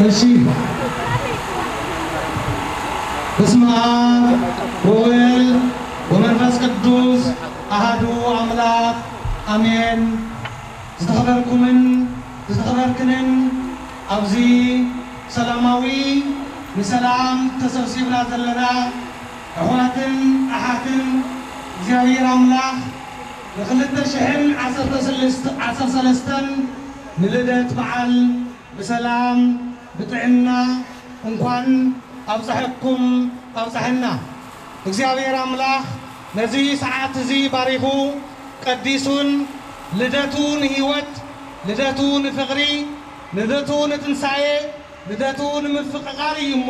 እሺ። በስመ አብ ወወልድ ወመንፈስ ቅዱስ አሐዱ አምላክ አሜን። ዝተኸበርኩምን ዝተኸበርክንን ኣብዚ ሰላማዊ ንሰላም ተሰብሲብና ዘለና ኣሕዋትን ኣሓትን እግዚኣብሔር ኣምላኽ ንክልተ ሽሕን ዓሰርተ ሰለስተን ንልደት በዓል ብሰላም ብጥዕና እንኳን ኣብፀሐኩም ኣብፀሐና። እግዚኣብሔር ኣምላኽ ነዚ ሰዓት እዚ ባሪኹ ቀዲሱን ልደቱ ንህይወት፣ ልደቱ ንፍቕሪ፣ ልደቱ ንትንሳኤ፣ ልደቱ ንምፍቕቓር እዩ እሞ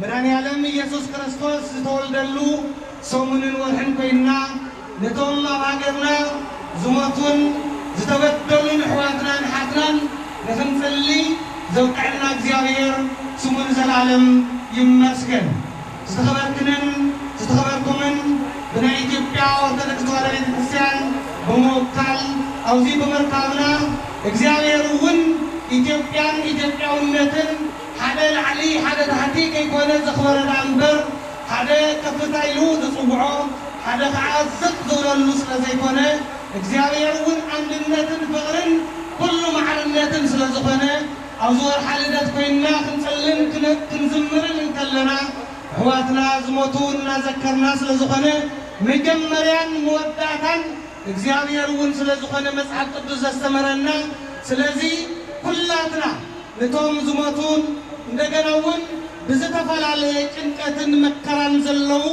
መድኃኔዓለም ኢየሱስ ክርስቶስ ዝተወልደሉ ሰሙንን ወርሕን ኮይንና ነቶም ኣብ ሃገርና ዝሞቱን ዝተበደሉን ኣሕዋትናን ሓትናን ንኽንጽሊ ዘብቅዐና እግዚኣብሔር ስሙ ንዘለዓለም ይመስገን። ዝተኸበርክንን ዝተኸበርኩምን ብናይ ኢትዮጵያ ኦርቶዶክስ ተዋሕዶ ቤተ ክርስቲያን ብምውካል ኣብዚ ብምርካብና እግዚኣብሔር እውን ኢትዮጵያን ኢትዮጵያውነትን ሓደ ላዕሊ ሓደ ታሕቲ ከይኮነ ዘኽበረ ደኣ እምበር ሓደ ከፍታ ኢሉ ዝጽውዖ ሓደ ከዓ ዝቕ ዝበለሉ ስለ ዘይኮነ እግዚኣብሔር እውን ኣንድነትን ፍቕርን ኩሉ ማዕርነትን ስለ ዝኾነ ኣብዚ ወርሓ ልደት ኮይንና ክንጽልን ክን- ክንዝምርን እንከለና ኣሕዋትና ዝሞቱ እናዘከርና ስለ ዝኾነ መጀመርያን መወዳእታን እግዚኣብሔር እውን ስለ ዝኾነ መጽሓፍ ቅዱስ ዘስተምረና። ስለዚ ኩላትና ነቶም ዝሞቱን እንደገና እውን ብዝተፈላለየ ጭንቀትን መከራን ዘለዉ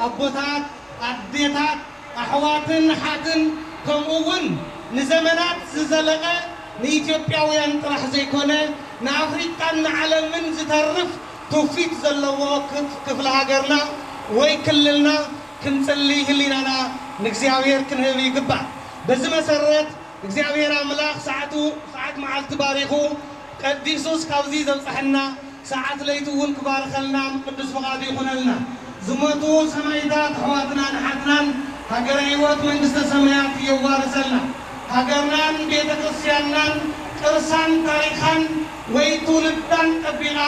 ኣቦታት፣ ኣዴታት፣ ኣሕዋትን ኣሓትን ከምኡ እውን ንዘመናት ዝዘለቐ ንኢትዮጵያውያን ጥራሕ ዘይኮነ ንኣፍሪቃን ንዓለምን ዝተርፍ ትውፊት ዘለዎ ክፍ- ክፍለ ሃገርና ወይ ክልልና ክንጽሊ ህሊናና ንእግዚኣብሔር ክንህብ ይግባእ። በዚ መሰረት እግዚኣብሔር ኣምላኽ ሰዓቱ ሰዓት መዓልቲ ባሪኹ ቀዲሱስ ካብዚ ዘብጽሐና ሰዓት ለይቲ እውን ክባርኸልና ቅዱስ ፍቓዱ ይኹነልና። ዝሞቱ ሰማይታት ኣሕዋትናን ኣሓትናን ሃገረ ህይወት መንግስተ ሰማያት የዋርሰልና። ሃገርናን ቤተ ክርስቲያንናን ቅርሳን ታሪኻን ወይ ትውልዳን ጠቢቓ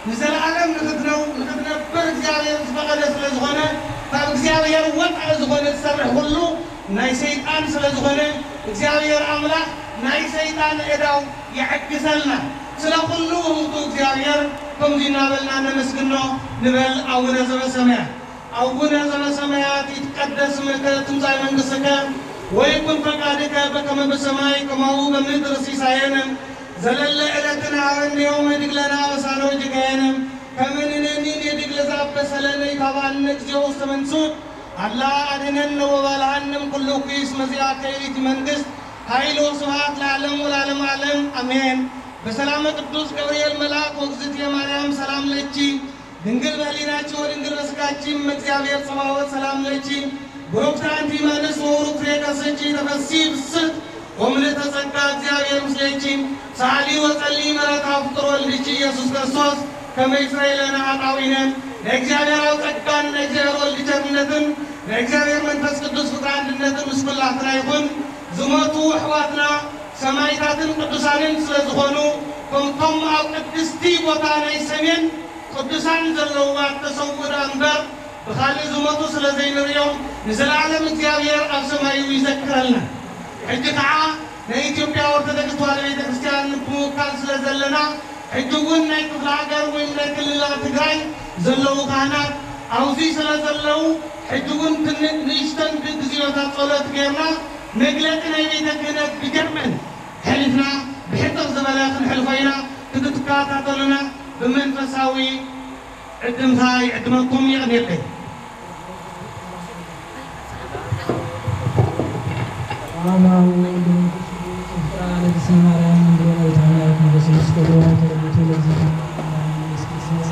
ንዘለኣለም ንኽትነው- ንኽትነብር እግዚኣብሔር ዝፈቐደ ስለ ዝኾነ ካብ እግዚኣብሔር ወፃኢ ዝኾነ ዝሰርሕ ኩሉ ናይ ሰይጣን ስለ ዝኾነ እግዚኣብሔር ኣምላኽ ናይ ሰይጣን እዳው ይዕግሰልና። ስለ ኩሉ ውህብቱ እግዚኣብሔር ከምዚ እናበልና ነመስግኖ ንበል። ኣቡነ ዘበሰማያት ኣቡነ ዘበሰማያት ይትቀደስ ስምከ ትምጻእ መንግሥትከ ወይኩን ፈቃድከ በከመ በሰማይ ከማሁ በምድር ሲሳየነ ዘለለ ዕለትነ ሀበነ ዮም ወህድግ ለነ አበሳነ ወጌጋየነ ከመ ንሕነኒ ንህድግ ለዘአበሰ ለነ ኢታብአነ እግዚኦ ውስተ መንሱት አላ አድኅነነ ወባልሐነ እምኩሉ እኩይ እስመ ዚአከ ይእቲ መንግሥት ኃይል ወስብሐት ለዓለሙ ለዓለመ ዓለም አሜን። በሰላመ ቅዱስ ገብርኤል መልአክ ወእግዝእትየ ማርያም ሰላም ለኪ ድንግል በህሊናኪ ወድንግል በስጋኪ እመ እግዚአብሔር ጸባኦት ሰላም ለኪ ብሩክት አንቲ እማንስ ወብሩክ ፍሬ ከርሥኪ ተፈሲ ብስት ወምልእተ ጸጋ እግዚአብሔር ምስሌኪ ሰአሊ ወጸሊ ምሕረተ ፍቁር ወልድኪ ኢየሱስ ክርስቶስ ከመ ይስረይ ለነ ኃጣውኢነ። ናይ እግዚኣብሔር ኣብ ጸጋን ናይ እግዚኣብሔር ወልድ ቸርነትን ናይ እግዚኣብሔር መንፈስ ቅዱስ ፍቅሪ አንድነትን ምስ ኩላትና ይኹን። ዝሞቱ ኣሕዋትና ሰማይታትን ቅዱሳንን ስለ ዝኾኑ ከምቶም ኣብ ቅድስቲ ቦታ ናይ ሰሜን ቅዱሳን ዘለውዋ ተሰውኡ ደኣ እምበር ብኻልእ ዝሞቱ ስለ ዘይንርእዮም ንዘለዓለም እግዚኣብሔር ኣብ ሰማዩ ይዘክረልና። ሕጂ ከዓ ናይ ኢትዮጵያ ኦርቶዶክስ ተዋህዶ ቤተ ክርስቲያን ብምውካል ስለ ዘለና ሕጂ እውን ናይ ክፍለ ሃገር ወይ ናይ ክልላ ትግራይ ዘለዉ ካህናት ኣብዚ ስለ ዘለዉ ሕጂ እውን ትንሽ ንእሽተን ግዝዮታት ጸሎት ጌርና መግለጺ ናይ ቤተ ክህነት ብጀርመን ሕሊፍና ብሕጽር ዝበለ ክንሕልፎ ኢና። ክትትከታተሉና ብመንፈሳዊ ዕድምታ ይዕድመኩም። የቐንየለይ። በስመ አብ ወወልድ ወመንፈስ ቅዱስ። በስመ አብ ወወልድ ወመንፈስ ቅዱስ።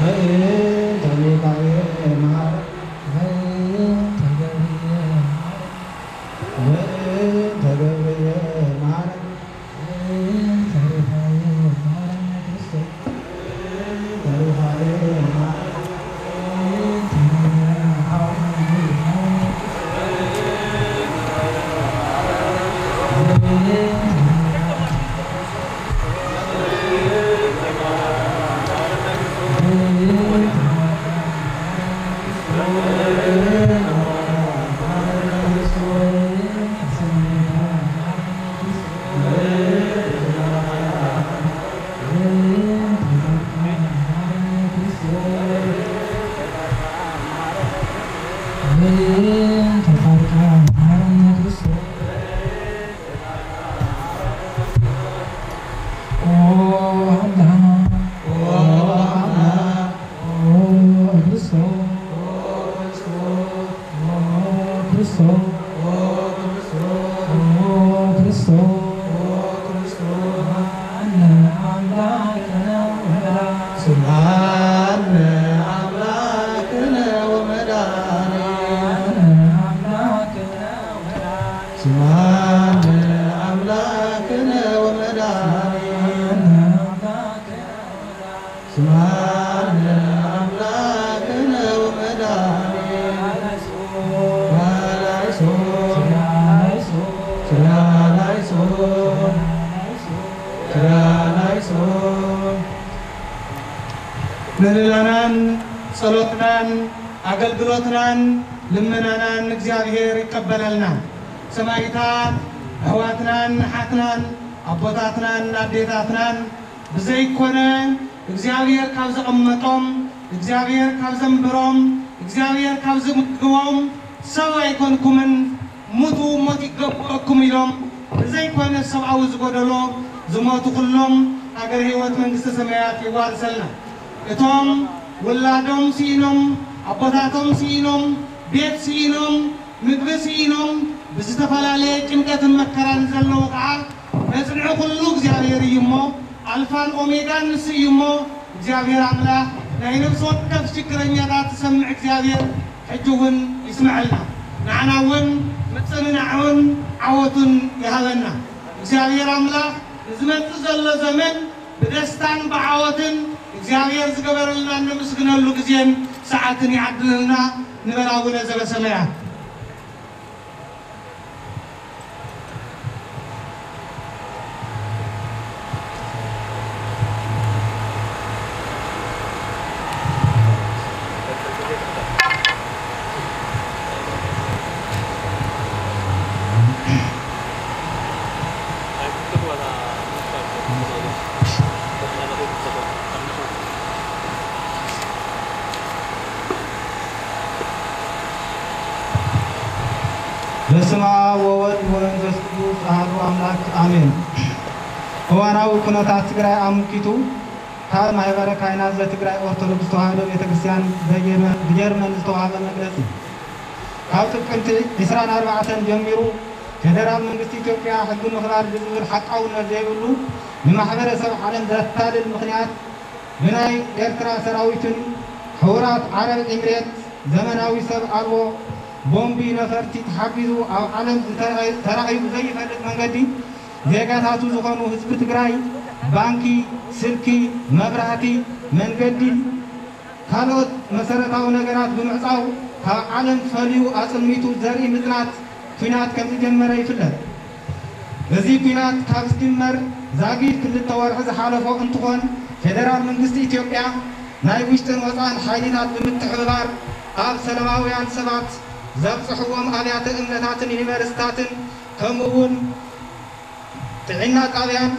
በእንተ ገብርኤል መሐረነ፣ በእንተ ገብርኤል መሐረነ፣ በእንተ ገብርኤል መሐረነ፣ በእንተ ሩፋኤል መሐረነ ክርስቶስ፣ በእንተ ሩፋኤል መሐረነ፣ በእንተ ገብርኤል መሐረነ፣ በእንተ ስምዓነ አምላክነ ወመድኃኒነ። ስምዓነ አምላክነ ወመድኃኒነ። ስምዓነ አምላክነ ወመድኃኒነ። ላይሶ፣ ላይሶ፣ ላይሶ፣ ላይሶ። ምህለላናን ጸሎትናን ኣገልግሎትናን ልመናናን እግዚኣብሔር ይቀበለልና። ሰማይታት ኣሕዋትናን ኣሓትናን ኣቦታትናን ኣዴታትናን ብዘይኮነ እግዚኣብሔር ካብ ዘቐመጦም፣ እግዚኣብሔር ካብ ዘንብሮም፣ እግዚኣብሔር ካብ ዝምግቦም ሰብ ኣይኮንኩምን፣ ሙቱ ሞት ይገበኩም ኢሎም ብዘይኮነ ሰብኣዊ ዝጎደሎ ዝሞቱ ኩሎም ሃገረ ህይወት መንግስተ ሰማያት የዋርሰልና። እቶም ውላዶም ስኢኖም፣ ኣቦታቶም ስኢኖም፣ ቤት ስኢኖም፣ ምግቢ ስኢኖም ብዝተፈላለየ ጭንቀትን መከራን ዘለዉ ከዓ መጽንዒ ኩሉ እግዚኣብሔር እዩ እሞ፣ ኣልፋን ኦሜጋን ንሱ እዩ እሞ፣ እግዚኣብሔር ኣምላኽ ናይ ነፍሲ ወከፍ ችግረኛታት ዝሰምዕ እግዚኣብሔር ሕጂ እውን ይስምዐልና። ንዓና እውን ምጽንናዕን ዓወቱን ይሃበና። እግዚኣብሔር ኣምላኽ ንዝመጽእ ዘሎ ዘመን ብደስታን ብዓወትን እግዚኣብሔር ዝገበረልና እነመስግነሉ ግዜን ሰዓትን ይዓድለልና። ንበል ኣቡነ ዘበሰማያት። በስመ አብ ወወልድ ወመንፈስ ቅዱስ አሐዱ አምላክ አሜን። እዋናዊ ኩነታት ትግራይ ኣመልኪቱ ካብ ማሕበረ ካህናት ዘትግራይ ኦርቶዶክስ ተዋህዶ ቤተክርስትያን በጀርመን፣ ብጀርመን ዝተዋህበ መግለጺ። ካብ ጥቅምቲ ዕስራን ኣርባዕተን ጀሚሩ ፌደራል መንግስቲ ኢትዮጵያ ሕጊ ምኽባር ብዝብል ሓቃውነት ዘይብሉ ንማሕበረሰብ ዓለም ዘታልል ምኽንያት ብናይ ኤርትራ ሰራዊትን ሕቡራት ዓረብ ኤምሬት ዘመናዊ ሰብ ኣልቦ ቦምቢ ነፈርቲ ተሓጊዙ ኣብ ዓለም ዝተራእዩ ብዘይፈልጥ መንገዲ ዜጋታቱ ዝኾኑ ህዝቢ ትግራይ ባንኪ፣ ስልኪ፣ መብራህቲ፣ መንገዲ፣ ካልኦት መሰረታዊ ነገራት ብምዕጻው ካብ ዓለም ፈልዩ ኣጽልሚቱ ዘርኢ ምጽናት ኲናት ከም ዝጀመረ ይፍለጥ። እዚ ኲናት ካብ ዝጅመር ዛጊድ ክልተ ወርሒ ዝሓለፎ እንትኾን፣ ፌደራል መንግስቲ ኢትዮጵያ ናይ ውሽጥን ወጻእን ሓይሊታት ብምትሕብባር ኣብ ሰላማውያን ሰባት ዘብጽሕዎም ኣብያተ እምነታትን ዩኒቨርሲታትን ከምኡ እውን ጥዕና ጣብያን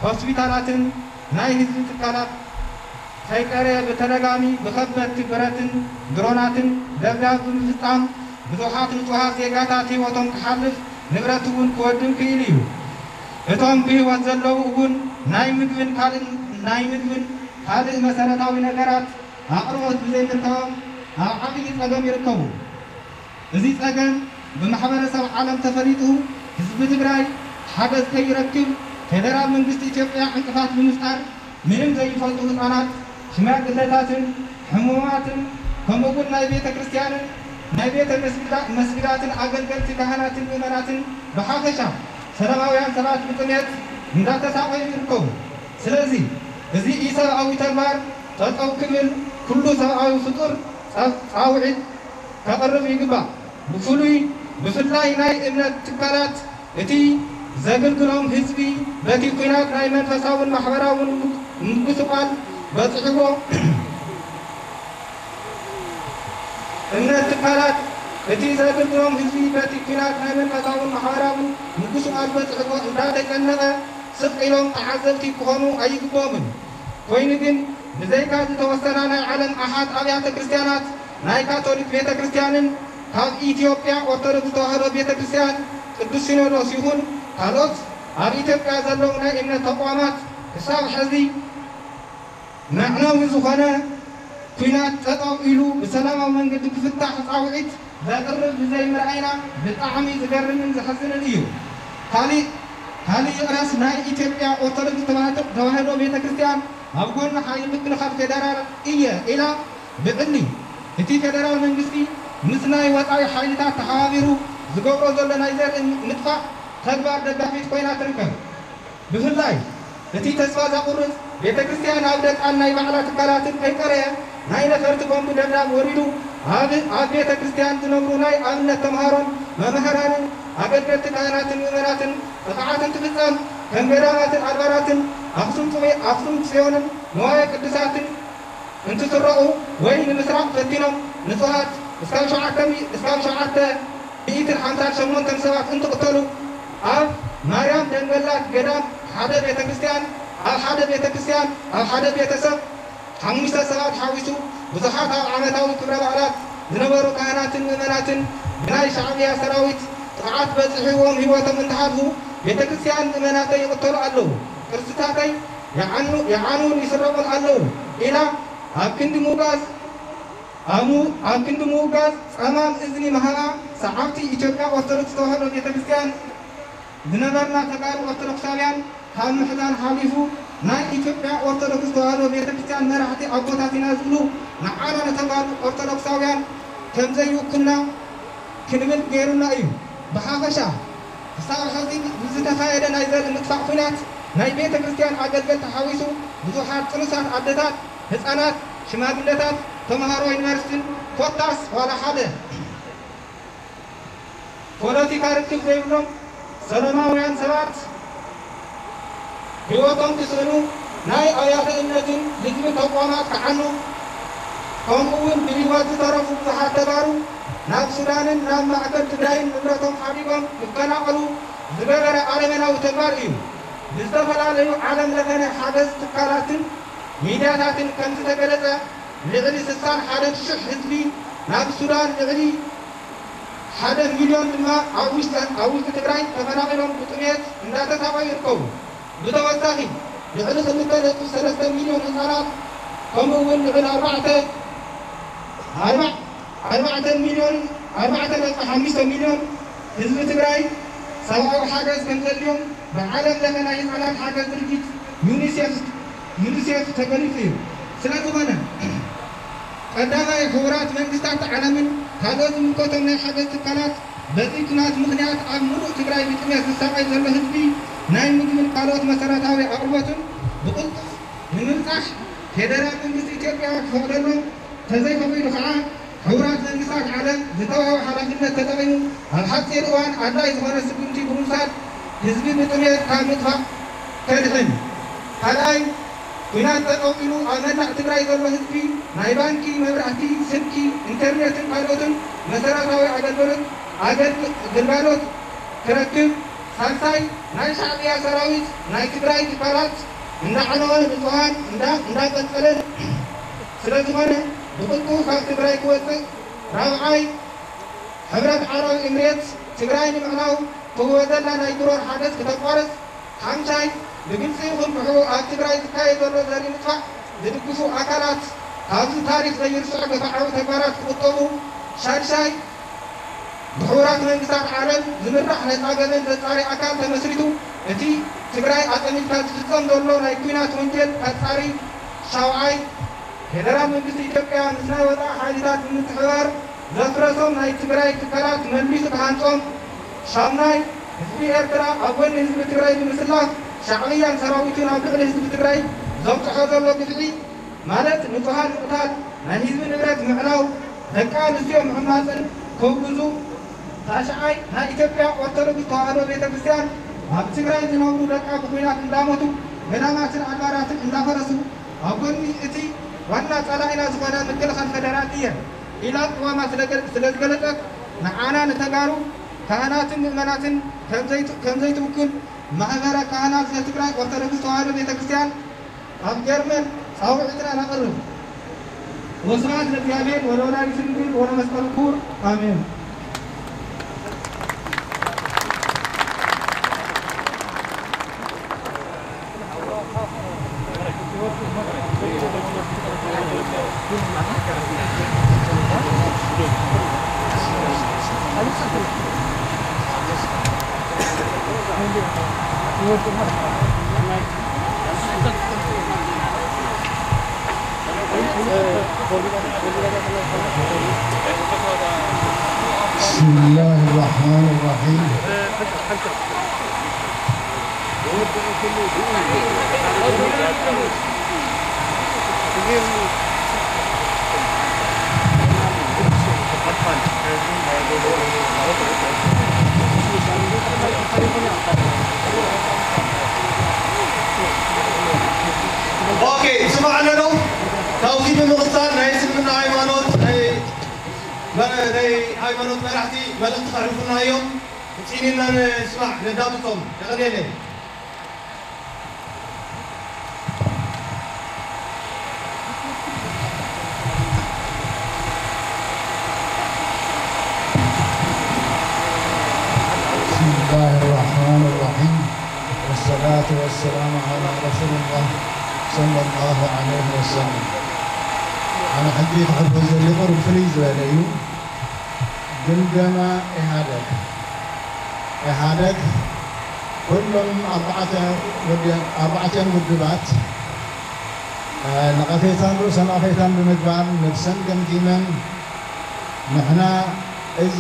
ሆስፒታላትን ናይ ህዝቢ ትካላት ከይቀረየ ብተደጋሚ ብኸበድቲ ብረትን ድሮናትን ደብዳብ ብምፍጻም ብዙሓት ንጹሃት ዜጋታት ህይወቶም ክሓልፍ ንብረት እውን ክወድም ክኢሉ እዩ። እቶም ብህይወት ዘለዉ እውን ናይ ምግብን ካልእ ናይ ምግብን ካልእ መሰረታዊ ነገራት ኣቕርቦት ብዘይምርካቦም ኣብ ዓብዪ ጸገም ይርከቡ። እዚ ጸገም ብማሕበረሰብ ዓለም ተፈሊጡ ህዝቢ ትግራይ ሓገዝ ከይረክብ ፌደራል መንግስቲ ኢትዮጵያ ዕንቅፋት ብምፍጣር ምንም ዘይፈልጡ ህፃናት ሽማግለታትን ሕሙማትን ከምኡውን ናይ ቤተ ክርስቲያንን ናይ ቤተ መስጊዳ- መስጊዳትን ኣገልገልቲ ካህናትን ምእመናትን ብሓፈሻ ሰላማውያን ሰባት ብጥሜት እንዳተሳቐዩ ይርከቡ። ስለዚ እዚ ኢሰብኣዊ ተግባር ጠጠው ክብል ኩሉ ሰብኣዊ ፍጡር ጸ- ጻውዒት ከቕርብ ይግባእ። ብፍሉይ ብፍላይ ናይ እምነት ትካላት እቲ ዘግልግሎም ህዝቢ በቲ ኲናት ናይ መንፈሳውን ማሕበራውን ምጉስቋል በጺሕዎ እምነት ትካላት እቲ ዘግልግሎም ህዝቢ በቲ ኲናት ናይ መንፈሳውን ማሕበራውን ምጉስቋል በጺሕዎ እንዳተጨነቐ ስቕ ኢሎም ተዓዘብቲ ክኾኑ ኣይግብኦምን። ኮይኑ ግን ብዘይካ ዝተወሰና ናይ ዓለም ኣሓት ኣብያተ ክርስቲያናት ናይ ካቶሊክ ቤተ ክርስቲያንን ካብ ኢትዮጵያ ኦርቶዶክስ ተዋህዶ ቤተ ክርስቲያን ቅዱስ ሲኖዶስ ይኹን ካልኦት ኣብ ኢትዮጵያ ዘለዉ ናይ እምነት ተቋማት ክሳብ ሕዚ መዕነዊ ዝኾነ ኲናት ጠጠው ኢሉ ብሰላማዊ መንገዲ ክፍታሕ ፃውዒት ዘቕርብ ብዘይምርኣይና ብጣዕሚ ዝገርምን ዘሕዝንን እዩ። ካሊእ ካሊእ ይቕረስ ናይ ኢትዮጵያ ኦርቶዶክስ ተዋህዶ ቤተ ክርስቲያን ኣብ ጎኒ ሓይሊ ምክልኻል ፌደራል እየ ኢላ ብዕሊ እቲ ፌደራል መንግስቲ ምስ ናይ ወፃኢ ሓይልታት ተሓባቢሩ ዝገብሮ ዘሎ ናይ ዘርኢ ምጥፋእ ተግባር ደጋፊት ኮይና ትርከብ። ብፍላይ እቲ ተስፋ ዘቑርፅ ቤተ ክርስቲያን ኣብ ደቃን ናይ ባዕላ ትካላትን ከይቀረየ ናይ ነፈርቲ ቦምብ ደብዳብ ወሪዱ ኣብ ኣብ ቤተ ክርስቲያን ዝነብሩ ናይ ኣብነት ተምሃሮን መምህራንን ኣገልገልቲ ካህናትን ምእመናትን ጥቕዓት እንትፍፀም ከም ገዳማትን ኣድባራትን ኣክሱም ፅዮንን ንዋየ ቅድሳትን እንትስረቑ ወይ ንምስራቕ ፈቲኖም ንጹሃት እስካብ ሸውዓተ እስካብ ሸውዓተ ሚእትን ሓምሳን ሸሞንተን ሰባት እንትቕተሉ ኣብ ማርያም ደንገላት ገዳም ሓደ ቤተ ክርስቲያን ኣብ ሓደ ቤተ ክርስቲያን ኣብ ሓደ ቤተሰብ ሓሙሽተ ሰባት ሓዊሱ ብዙሓት ኣብ ዓመታዊ ክብረ በዓላት ዝነበሩ ካህናትን ምእመናትን ብናይ ሻዕብያ ሰራዊት ጥቕዓት በፂሕዎም ህይወቶም እንትሓልፉ ቤተ ክርስቲያን ምእመናተይ ይቕተሉ ኣለዉ፣ ቅርስታተይ ይዓኑን ይስረቑን ኣለዉ ኢላ ኣብ ክንዲ ምውጋዝ ኣብ ክንዲ ምውጋዝ ጸማም እዝኒ ምሃባ ሰዓብቲ ኢትዮጵያ ኦርቶዶክስ ተዋህዶ ቤተ ክርስቲያን ዝነበርና ተጋሩ ኦርቶዶክሳውያን ካብ ምሕዛን ሓሊፉ ናይ ኢትዮጵያ ኦርቶዶክስ ተዋህዶ ቤተ ክርስቲያን መራሕቲ ኣቦታት ኢና ዝብሉ ንዓና ንተጋሩ ኦርቶዶክሳውያን ከምዘይውክልና ክንብል ገይሩና እዩ። ብሓፈሻ ክሳብ ሕዚ ብዝተኻየደ ናይ ዘርኢ ምጥፋእ ኲናት ናይ ቤተ ክርስቲያን ኣገልገልቲ ሓዊሱ ብዙሓት ጥኑሳት ኣደታት፣ ህፃናት፣ ሽማግለታት፣ ተምሃሮ ዩኒቨርሲቲን ኮታስ ዋላ ሓደ ፖለቲካ ርክብ ዘይብሎም ሰላማውያን ሰባት ህይወቶም ክስእኑ፣ ናይ ኣብያተ እምነትን ህዝቢ ተቋማት ክዓኑ፣ ከምኡ እውን ብህይወት ዝተረፉ ብዙሓት ተጋሩ ናብ ሱዳንን ናብ ማእከል ትግራይን ንብረቶም ሓዲጎም ክፈናቐሉ ዝገበረ ኣረሜናዊ ተግባር እዩ። ብዝተፈላለዩ ዓለም ለኸ ናይ ሓገዝ ትካላትን ሚድያታትን ከምዝተገለጸ፣ ልዕሊ ስሳን ሓደን ሽሕ ህዝቢ ናብ ሱዳን፣ ልዕሊ ሓደ ሚልዮን ድማ ኣብ ውሽጢ ኣብ ውሽጢ ትግራይ ተፈናቒሎም ብጥሜት እንዳተሳቐዩ ይርከቡ። ብተወሳኺ ልዕሊ ክልተ ነጥቢ ሰለስተ ሚልዮን ህፃናት ከምኡ እውን ልዕሊ ኣርባዕተ ኣርባዕ ኣርባዕተ ሚልዮን ኣርባዕተ ነጥቢ ሓሙሽተ ሚልዮን ህዝቢ ትግራይ ሰብኣዊ ሓገዝ ከም ዘድልዮም ብዓለም ለኸ ናይ ህፃናት ሓገዝ ድርጅት ዩኒሴፍ ዩኒሴፍ ተገሊፁ እዩ። ስለዝኾነ ቀዳማይ ሕቡራት መንግስታት ዓለምን ካልኦት ዝምልከቶም ናይ ሓገዝ ትካላት በዚ ኲናት ምኽንያት ኣብ ሙሉእ ትግራይ ብጥሜት ዝሳቐይ ዘሎ ህዝቢ ናይ ምግብን ካልኦት መሰረታዊ ኣቕርቦትን ብቕልጡፍ ንምብፃሕ ፌደራል መንግስቲ ኢትዮጵያ ክፈቕደሎም፣ ተዘይፈቒዱ ከዓ ሕቡራት መንግስታት ዓለም ዝተዋህቦ ሓላፍነት ተጠቒሙ ኣብ ሓፂር እዋን ኣድላዪ ዝኾነ ስጉምቲ ብምውሳድ ህዝቢ ብጥሜት ካብ ምጥፋእ ከድሕን። ካልኣይ፣ ኲናት ጠጠው ኢሉ ኣብ መላእ ትግራይ ዘሎ ህዝቢ ናይ ባንኪ፣ መብራህቲ፣ ስልኪ፣ ኢንተርኔትን ካልኦትን መሰረታዊ ኣገልግሎት ኣገልግ- ግልጋሎት ክረክብ። ሳልሳይ፣ ናይ ሻዕብያ ሰራዊት ናይ ትግራይ ትካላት እንዳዓነወ ንፁሃን እንዳ እንዳቀንፀለን ስለዝኾነ ብቕልጡፍ ካብ ትግራይ ክወፅእ። ራብዓይ፣ ሕብረት ዓረብ ኤምሬት ትግራይ ንምዕናው ትህቦ ዘላ ናይ ድሮን ሓገዝ ክተቋርፅ። ሓምሻይ፣ ብግልፂ ይኹን ብሕቡእ ኣብ ትግራይ ዝካየድ ዘሎ ዘርኢ ምጥፋእ ዝድግፉ ኣካላት ካብዚ ታሪክ ዘይርስዖ ግፍዓዊ ተግባራት ክቑጠቡ። ሻድሻይ፣ ብሕቡራት መንግስታት ዓለም ዝምራሕ ነፃ ገበን ዘፃሪ ኣካል ተመስሪቱ እቲ ትግራይ ኣፀሚድካ ዝፍፀም ዘሎ ናይ ኲናት ወንጀል ከፃሪ። ሻውዓይ፣ ፌደራል መንግስቲ ኢትዮጵያ ምስ ናይ ወጻኢ ሓይልታት ብምትሕብባር ዘፍረሶም ናይ ትግራይ ትካላት መልሚሱ ክሃንጾም፣ ሻሙናይ፣ ህዝቢ ኤርትራ ኣብ ጎኒ ህዝቢ ትግራይ ብምስላፍ ሻዕብያን ሰራዊቱን ኣብ ልዕሊ ህዝቢ ትግራይ ዘብጽሖ ዘሎ ግፍዒ፣ ማለት ንጹሃን ምቕታል፣ ናይ ህዝቢ ንብረት ምዕናው፣ ደቂ ኣንስትዮ ምሕማጽን ክውግዙ፣ ታሽዓይ፣ ናይ ኢትዮጵያ ኦርቶዶክስ ተዋህዶ ቤተ ክርስቲያን ኣብ ትግራይ ዝነብሩ ደቃ ብኲናት እንዳሞቱ፣ ገዳማትን ኣድባራትን እንዳፈረሱ፣ ኣብ ጎኒ እቲ ዋና ጸላኢና ዝኾነ ምክልኻል ፌደራል እየ ኢላ ቅዋማ ስለ ገ-፣ ስለ ዝገለጸት፣ ንዓና ንተጋሩ ካህናትን ምእመናትን ከም ዘይት-፣ ከም ዘይትውክል ማሕበረ ካህናት ዘትግራይ ኦርቶዶክስ ተዋህዶ ቤተ ክርስቲያን ኣብ ጀርመን ጻውዒትና ነቕርብ። ወስብሐት ለእግዚኣብሔር ወለወላዲቱ ድንግል ወለመስቀሉ ክቡር፣ ኣሜን። بسم الله الرحمن الرحيم. ኦኬ፣ ስማዕ ኣለዶ። ካብዚ ብምቕጻል ናይ እስልምና ሃይማኖት፣ ናይ፣ ናይ ሃይማኖት መራሕቲ መልእኽቲ ከሕልፉልና እዮም። ውፂኢንና ንስማዕ፣ ነዳምጾም። የቐንየለይ። بسم الله الرحمن الرحيم. والصلاة والسلام على رسول الله صلى الله عليه وسلم. ኣነ ሕጂ ክሕልፎ ዘሊ ቁሩብ ፍልይ ዝበለ እዩ። ግምገማ ኢህኣደግ። ኢህኣደግ ኩሎም ኣርባዕተ ውድ-፣ ኣርባዕተን ውድባት፣ እ፣ ነቐፌታን ርእሰ ነቐፌታን ብምግባር ነብሰን ገምጊመን፣ ንሕና እዚ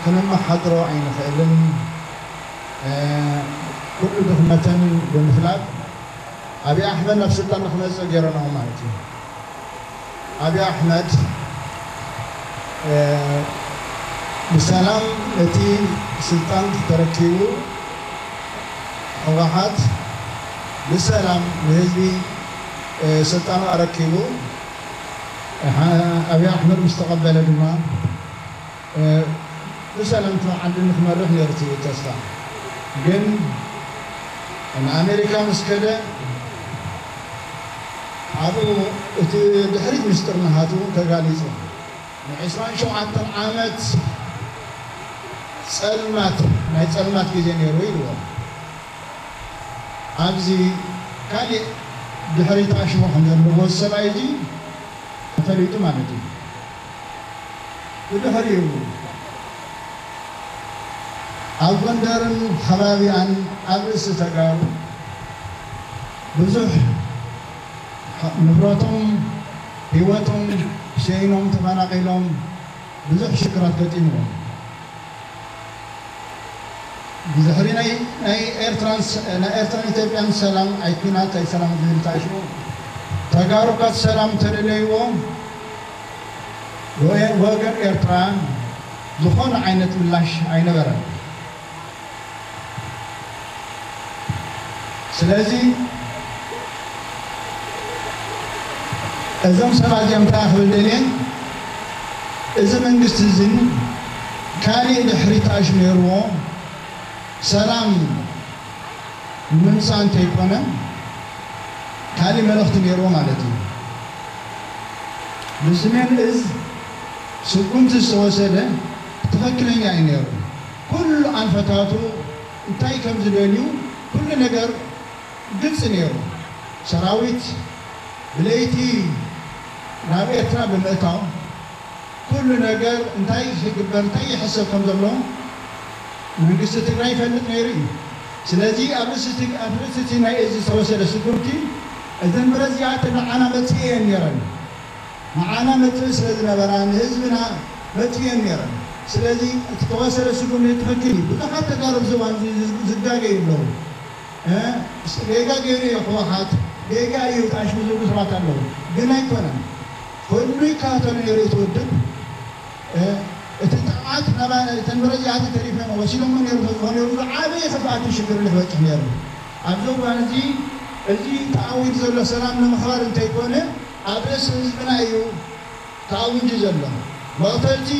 ክነመሓድሮ ኣይንኽእልን፣ እ፣ ኩሉ ድኽመተን ብምፍላጥ ኣብይ ኣሕመድ ናብ ስልጣን ንክመጽእ ገይረናዎ ማለት እዩ። ኣብይ ኣሕመድ፣ እ፣ ብሰላም እቲ ስልጣን ተረኪቡ፣ ህወሓት ብሰላም ንህዝቢ፣ እ፣ ስልጣኑ ኣረኪቡ፣ እ፣ ሓ-፣ ኣብይ ኣሕመድ ምስ ተቐበለ ድማ፣ እ፣ ብሰላም ዓዲ ንክመርሕ ነይሩ እቲ ተስፋ። ግን ንኣሜሪካ ምስ ከደ፣ ኣብኡ እቲ ድሕሪት ምስጢር ናሃቱ ተጋሊጹ። ንዕስራን ሸውዓተን ዓመት ጸልማት፣ ናይ ጸልማት ግዜ ነይሩ ኢልዎ። ኣብዚ ካሊእ ድሕሪት ኣሽሙ ከም ዘለዎ ሰብኣይ እዚ ተፈሊጡ ማለት እዩ። ብድሕሪኡ ኣብ ጎንደርን ከባቢኣን ኣብ ርእሲ ተጋሩ ብዙሕ ንብረቶም፣ ህይወቶም ሸይኖም፣ ተፈናቒሎም፣ ብዙሕ ሽግራት ገጢምዎም። ብድሕሪ ናይ፣ ናይ ኤርትራን ስ-፣ ናይ ኤርትራን ኢትዮጵያን ሰላም፣ ኣይ ኲናት ኣይ ሰላም ዝብል ተኣሽሙ፣ ተጋሩ ከኣ ሰላም ተደለይዎ፣ ወ-፣ ወገን ኤርትራ ዝኾነ ዓይነት ምላሽ ኣይነበረን። ስለዚ እዞም ሰባት እዚኦም እንታይ ክብል ደልየ፣ እዚ መንግስቲ እዝን ካሊእ ድሕሪት ኣሽሜርዎ ሰላም ንምምፃእ እንተይኮነ ካሊእ መልእኽቲ ነይርዎ ማለት እዩ። ብሰሜን እዝ ስጉምቲ ዝተወሰደ ትኽክለኛ እዩ ነይሩ። ኩሉ ኣንፈታቱ እንታይ ከም ዝደልዩ ኩሉ ነገር ግልፂ ነይሩ። ሰራዊት ብለይቲ ናብ ኤርትራ ብምእታው ኩሉ ነገር እንታይ ይግበር፣ እንታይ ይሕሰብ ከም ዘሎ መንግስቲ ትግራይ ይፈልጥ ነይሩ እዩ። ስለዚ ኣብ ርእሲ እቲ፣ ኣብ ርእሲ እቲ ናይ እዚ ዝተወሰደ ስጉምቲ እዘን ብረት እዚኣተን ንዓና መፅኢ እየን ነይረን። ንዓና መጥእ ስለ ዝነበራ ንህዝብና መጥእየን ነይረን። ስለዚ እቲ ተወሰደ ስጉምቲ ትኽክል እዩ። ብዙሓት ተጋሩ ኣብዚ እዋን እዚ ዝጋገዩ ኣለዉ። እ፣ ጌጋ ገይሩ እዩ ህወሓት፣ ጌጋ እዩ ተኣሽሙ ዝብሉ ሰባት ኣለዉ። ግን ኣይኮነን። ኩሉ ይከታተሎ ነይሩ እቲ ውድብ። እ፣ እቲ ጥቕዓት ናባ-፣ እተን መረጃታት ተሪፈን ወሲዶሞ ነይሩ ተዝኾነ ነይሩ ዝዓበየ ክፍኣትን ሽግርን ይበፅሕ ነይሩ። ኣብዚ እዋን እዚ፣ እዚ ተኣዊዱ ዘሎ ሰላም ንምኽባር እንተይኮነ፣ ኣብ ርእሲ ህዝብና እዩ ተኣዊጁ ዘሎ። መቕተልቲ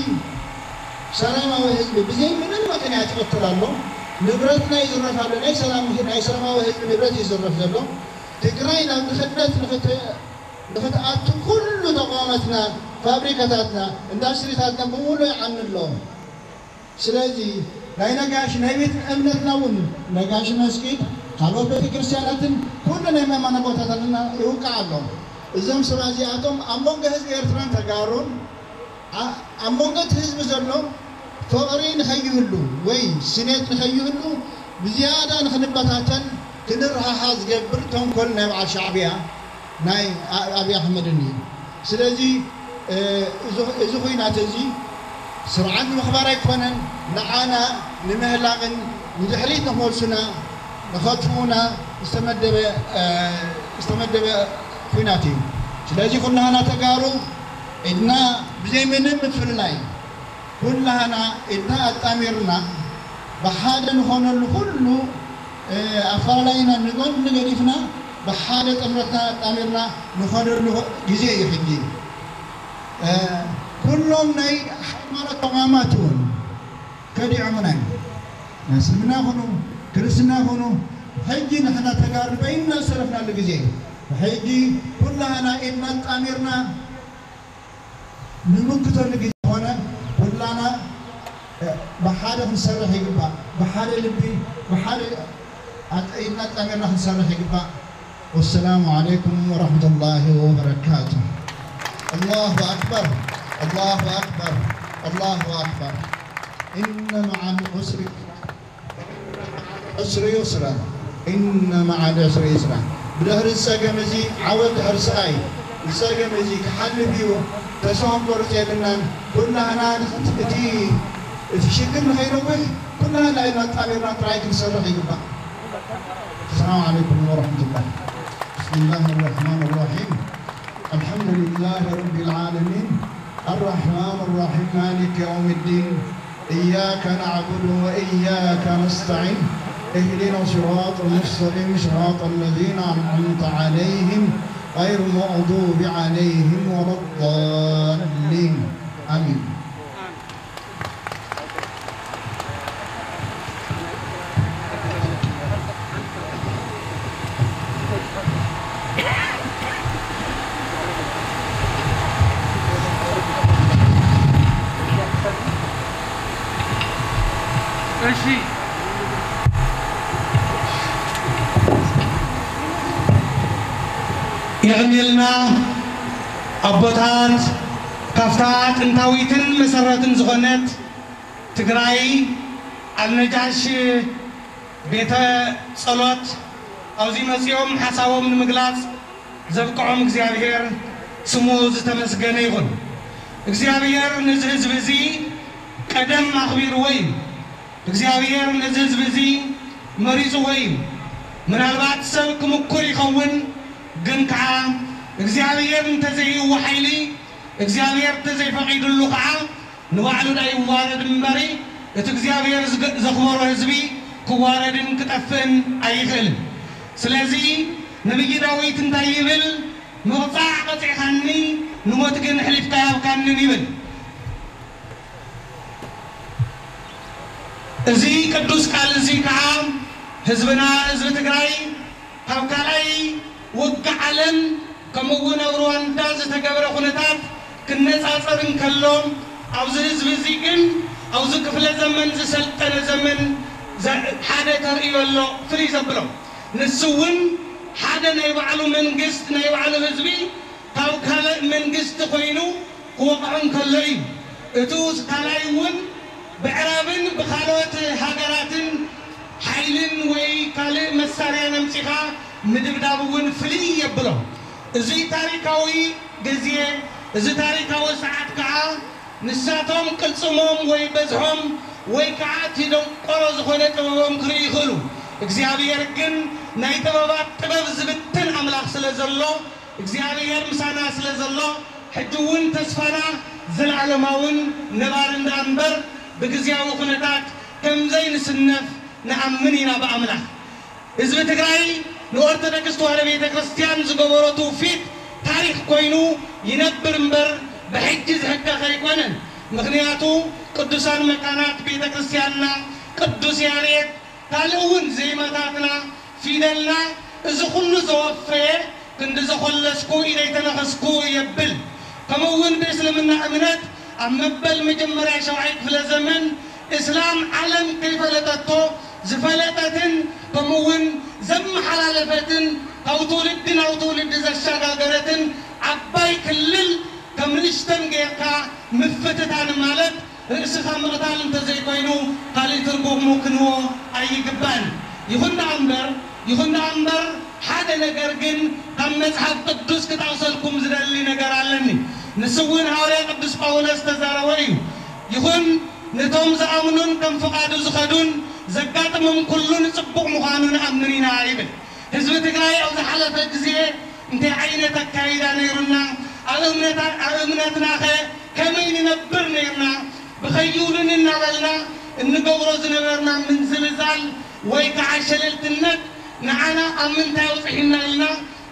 ሰላማዊ ህዝቢ ብዘይ ምንም ምኽንያት ይቕተል ኣሎ። ንብረትና ይዝረፍ ኣሎ። ናይ ሰላም፣ ናይ ሰላማዊ ህዝቢ ንብረት እዩ ዝዝረፍ ዘሎ። ትግራይ ናብ ድኽነት ንኽት-፣ ንኽትኣቱ ኩሉ ተቋማትና፣ ፋብሪካታትና፣ ኢንዳስትሪታትና ብምሉእ ይዓኑ ኣሎ። ስለዚ ናይ ነጋሽ ናይ ቤት እምነትና እውን ነጋሽ መስጊድ፣ ካልኦት ቤተ ክርስቲያናትን ኩሉ ናይ መማና ቦታታትና ይውቃዕ ኣሎ። እዞም ሰባት እዚኣቶም ኣብ መንጎ ህዝቢ ኤርትራን ተጋሩን፣ ኣ-፣ ኣብ መንጎ እቲ ህዝቢ ዘሎ ፍቕሪ ንኸይህሉ ወይ ስኔት ንኸይህሉ ብዝያዳ ንኽንበታተን ክንረሃሃ ዝገብር ተንኮል ናይ በዓል ሻዕብያ ናይ ኣ-፣ ኣብይ ኣሕመድን እዩ። ስለዚ፣ እ፣ እዚ፣ እዚ ኹናት እዚ ስርዓት ንምኽባር ኣይኮነን፣ ንዓና ንምህላቕን ንድሕሪት ንኽመልሱና፣ ንኸጥፍኡና ዝተመደበ፣ እ፣ ዝተመደበ ኹናት እዩ። ስለዚ ኩላህና ተጋሩ ኢድና ብዘይ ምንም ምፍልላይ ኩላህና ኢድና ኣጣሚርና ብሓደ ንኾነሉ ኩሉ፣ እ፣ ኣፈላላይና ንጎኒ ገዲፍና ብሓደ ጥምረትና ኣጣሚርና ንኾነሉ ግዜ እዩ ሕጂ። እ፣ ኩሎም ናይ ሃይማኖት ተቋማት እውን ከዲዖምና እዮም። ናይ እስልምና ይኹኑ ክርስትና ይኹኑ፣ ሕጂ ንሕና ተጋሩ በይንና ዝተረፍናሉ ግዜ እዩ። ሕጂ ኩላህና ኢድና ኣጣሚርና ንምክተሉ ግዜ ዝኾነ ኩላና፣ እ፣ ብሓደ ክንሰርሕ ይግባእ። ብሓደ ልቢ፣ ብሓደ ኣጠ-፣ ኢድና ኣጣሚርና ክንሰርሕ ይግባእ። ወሰላሙ ዓለይኩም ወረሕመቱላሂ ወበረካቱ። ኣላሁ ኣክበር፣ ኣላሁ ኣክበር፣ ኣላሁ ኣክበር። ኢነ መዓል ዑስሪ ዕስሪ ዩስራ፣ ኢነ መዓል ዕስሪ ዩስራ። ብድሕሪ ዝጸገም እዚ ዓወት ድሕሪ ስቓይ፣ ዝጸገም እዚ ክሓልፍ እዩ። ተስፋ ክንቆርጽ የብልናን። ኩላህና እቲ፣ እቲ ሽግር ንኸይነውሕ ኩላህና ኢድና ኣጣሚርና ጥራይ ክንሰርሕ ይግባእ። ሰላም ዓለይኩም ወረሕመቱላህ። ብስሚላህ ራሕማን ራሒም። ኣልሓምዱሊላህ ረቢል ዓለሚን። ኣራሕማን ራሒም። ማሊክ የውም ዲን። إياك نعبد وإياك نستعين. اهدنا الصراط المستقيم، صراط الذين أنعمت عليهم، غير المغضوب عليهم ولا الضالين. آمين. እሺ። የቐንየልና ኣቦታት፣ ካብታ ጥንታዊትን መሰረትን ዝኾነት ትግራይ ኣልነጃሽ ቤተ ጸሎት ኣብዚ መጺኦም ሓሳቦም ንምግላጽ ዘብቅዖም እግዚኣብሔር ስሙ ዝተመስገነ ይኹን። እግዚኣብሔር ነዚ ህዝቢ እዚ ቀደም ኣኽቢርዎ እዩ። እግዚኣብሔር ነዚ ህዝቢ እዚ መሪጽዎ እዩ። ምናልባት ሰብ ክምኩር ይኸውን፣ ግን ከዓ እግዚኣብሔር እንተዘይህዎ ሓይሊ፣ እግዚኣብሔር እንተዘይፈቒዱሉ ከዓ ንባዕሉ ዳኣ ይዋረድ እምበሪ፣ እቲ እግዚኣብሔር ዝገ-፣ ዘኽበሮ ህዝቢ ክዋረድን ክጠፍእን ኣይኽእልን። ስለዚ ነቢይ ዳዊት እንታይ ይብል? "ምቕጻዕ ቀጺዕካኒ፣ ንሞት ግን ኣሕሊፍካ ኣይሃብካንን" ይብል። እዚ ቅዱስ ቃል እዚ ከዓ ህዝብና፣ ህዝቢ ትግራይ ካብ ካልኣይ ውግእ ዓለም ከምኡ እውን ኣብ ሩዋንዳ ዝተገብረ ኩነታት ክነጻጸር እንከሎ፣ ኣብዚ ህዝቢ እዚ ግን ኣብዚ ክፍለ ዘመን ዝሰልጠነ ዘመን ዘ-፣ ሓደ ተርእዮ ኣሎ ፍልይ ዘብሎ። ንሱ እውን ሓደ ናይ ባዕሉ መንግስት፣ ናይ ባዕሉ ህዝቢ ካብ ካልእ መንግስቲ ኮይኑ ክወቕዖ እንከሎ እዩ። እቱ ካልኣይ እውን ብዕራብን ብኻልኦት ሃገራትን ሓይልን ወይ ካልእ መሳርያን ኣምጺኻ ምድብዳብ እውን ፍልይ የብሎ። እዚ ታሪካዊ ግዜ እዚ ታሪካዊ ሰዓት ከኣ ንሳቶም ቅልጽሞም ወይ በዝሖም ወይ ከኣ እቲ ደንቆሮ ዝኾነ ጥበቦም ክርእዩ ይኽእሉ። እግዚኣብሔር ግን ናይ ጥበባት ጥበብ ዝብትን ኣምላኽ ስለ ዘሎ እግዚኣብሔር ምሳና ስለ ዘሎ ሕጂ እውን ተስፋና ዘለዓለማውን ነባርን ደኣ እምበር ብግዜያዊ ኩነታት ከም ዘይንስነፍ ንኣምን ኢና ብኣምላኽ። ህዝቢ ትግራይ ንኦርቶዶክስ ተዋህዶ ቤተ ክርስቲያን ዝገበሮ ትውፊት ታሪክ ኮይኑ ይነብር እምበር ብሕጂ ዝሕከኽ ኣይኮነን። ምክንያቱ ቅዱሳን መካናት ቤተ ክርስቲያንና ቅዱስ ያሬድ ካልእ እውን ዜማታትና ፊደልና እዚ ኩሉ ዘወፈየ ክንዲ ዘኾለስኩ ኢደይ ተነኸስኩ የብል። ከምኡ እውን ብእስልምና እምነት ኣብ መበል መጀመርያ ሸውዓይ ክፍለ ዘመን እስላም ዓለም ከይፈለጠቶ ዝፈለጠትን ከምኡ እውን ዘመሓላለፈትን ካብ ትውልዲ ናብ ትውልዲ ዘሸጋገረትን ዓባይ ክልል ከም ንእሽተን ጌርካ ምፍትታን ማለት ርእስኻ ምቕታል እንተዘይኮይኑ ካልእ ትርጉሙ ክንህቦ ኣይግባእን። ይኹን ደኣ እምበር ይኹን ደኣ እምበር ሓደ ነገር ግን ካብ መጽሓፍ ቅዱስ ክጠቕሰልኩም ዝደሊ ነገር ኣለኒ። ንሱ እውን ሃዋርያ ቅዱስ ጳውሎስ ዝተዛረቦ እዩ። ይኹን ነቶም ዝኣምኑን ከም ፍቓዱ ዝኸዱን ዘጋጥሞም ኩሉ ንጽቡቕ ምዃኑ ንኣምን ኢና ይብል። ህዝቢ ትግራይ ኣብ ዝሓለፈ ግዜ እንታይ ዓይነት ኣካይዳ ነይሩና፣ ኣብ እምነታ-፣ ኣብ እምነትናኸ ከመይ ንነብር ነይርና፣ ብኸይውልን እናበልና እንገብሮ ዝነበርና ምንዝልዛል ወይ ከዓ ሸለልትነት ንዓና ኣብ ምንታይ ኣውፅሒና ኢልና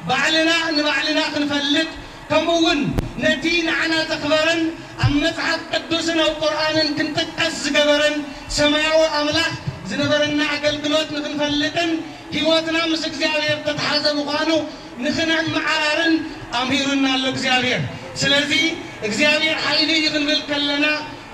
ባዕልና ንባዕልና ክንፈልጥ፣ ከምኡ እውን ነቲ ንዓና ዘኽበረን ኣብ መጽሓፍ ቅዱስን ኣብ ቁርኣንን ክንጥቀስ ዝገበረን ሰማያዊ ኣምላኽ ዝነበረና ኣገልግሎት ንኽንፈልጥን ህይወትና ምስ እግዚኣብሔር ተተሓዘ ምዃኑ ንኽነመዓራርን ኣምሂሩና ኣሎ እግዚኣብሔር። ስለዚ እግዚኣብሔር ሓይሊ እዩ ክንብል ከለና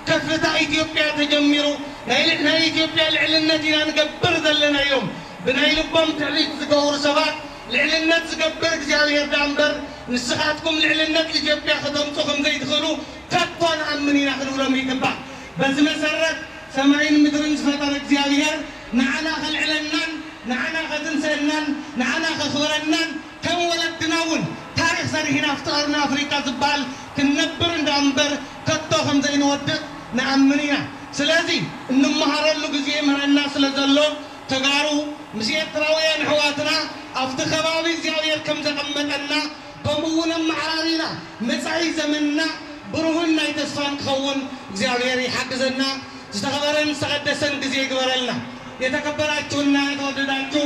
ከፍታ ኢትዮጵያ ተጀሚሩ ናይ ል-፣ ናይ ኢትዮጵያ ልዕልነት ኢና ንገብር ዘለና ኢሎም ብናይ ልቦም ትዕቢት ዝገብሩ ሰባት ልዕልነት ዝገብር እግዚኣብሔር ደኣ እምበር ንስኻትኩም ልዕልነት ኢትዮጵያ ከተምፁ ከም ዘይትኽእሉ ከቶ ንኣምን ኢና ክንብሎም ይግባእ። በዚ መሰረት ሰማይን ምድርን ዝፈጠረ እግዚኣብሔር ንዓና ከልዕለናን ንዓና ከትንሰአናን ንዓና ከኽብረናን ከም ወለድና እውን ታሪኽ ሰሪሕና ኣብቲ ቀርኒ ኣፍሪቃ ዝበሃል ክንነብር እንዳ እምበር ከቶ ከም ዘይንወድቕ ንኣምን ኢና። ስለዚ እንመሃረሉ ግዜ ይምህረና ስለ ዘሎ ተጋሩ ምስ ኤርትራውያን ኣሕዋትና ኣብቲ ከባቢ እግዚኣብሔር ከም ዘቐመጠና ከምኡ እውን ኣመዓራሪና መጻኢ ዘመንና ብሩህን ናይ ተስፋን ክኸውን እግዚኣብሔር ይሓግዘና። ዝተኸበረን ዝተቐደሰን ግዜ ይግበረልና። የተከበራችሁና የተወደዳችሁ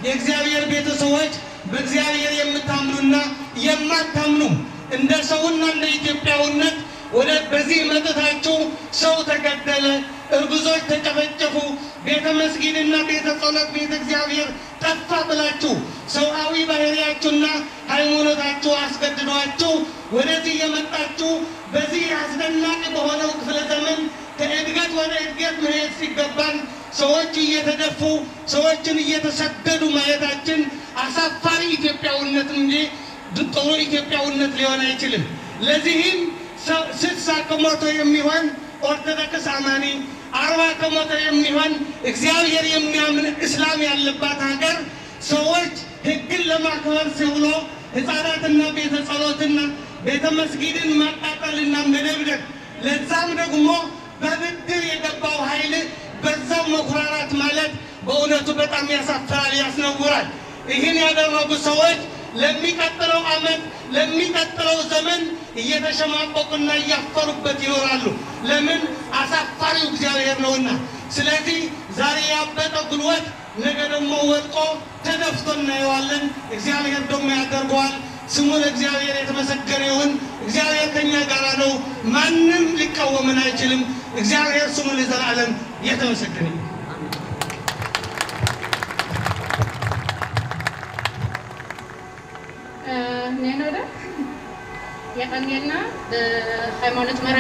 የእግዚአብሔር ቤተሰቦች በእግዚአብሔር የምታምኑና የማታምኑ እንደ ሰውና እንደ ኢትዮጵያውነት ወደ በዚህ መጥታችሁ ሰው ተገደለ፣ እርጉዞች ተጨፈጨፉ፣ ቤተ መስጊድና ቤተ ጸሎት ቤተ እግዚአብሔር ጠፋ ብላችሁ ሰብአዊ ባህሪያችሁና ሃይማኖታችሁ አስገድዷችሁ ወደዚህ የመጣችሁ በዚህ አስደናቂ በሆነው ክፍለ ዘመን ከእድገት ወደ እድገት መሄድ ሲገባን ሰዎች እየተደፉ ሰዎችን እየተሰደዱ ማየታችን አሳፋሪ ኢትዮጵያዊነት እንጂ ጥሩ ኢትዮጵያዊነት ሊሆን አይችልም። ለዚህም ሰ-፣ ስልሳ ከመቶ የሚሆን ኦርቶዶክስ አማኒ፣ አርባ ከመቶ የሚሆን እግዚአብሔር የሚያምን እስላም ያለባት ሀገር ሰዎች ህግን ለማክበር ሲውሎ ህፃናትና ቤተ ጸሎትና ቤተ መስጊድን ማቃጠልና መደብደብ፣ ለዛም ደግሞ በብድር የገባው ኃይል በዛው መኩራራት ማለት በእውነቱ በጣም ያሳፍራል፣ ያስነውራል። ይህን ያደረጉ ሰዎች ለሚቀጥለው ዓመት፣ ለሚቀጥለው ዘመን እየተሸማቀቁና እያፈሩበት ይኖራሉ። ለምን? አሳፋሪው እግዚአብሔር ነውና። ስለዚህ ዛሬ ያበጠ ጉልበት ነገ ደግሞ ወድቆ ተደፍቶ እናየዋለን። እግዚአብሔር ደግሞ ያደርገዋል። ስሙ ለእግዚአብሔር የተመሰገነ ይሁን። እግዚአብሔር ከኛ ጋር ነው። ማንም ሊቃወመን አይችልም። እግዚአብሔር ስሙ ለዘላለም የተመሰገነ ይሁን። እ፣ ኔኖ ዶ? የቀንየልና ብሃይማኖት መራ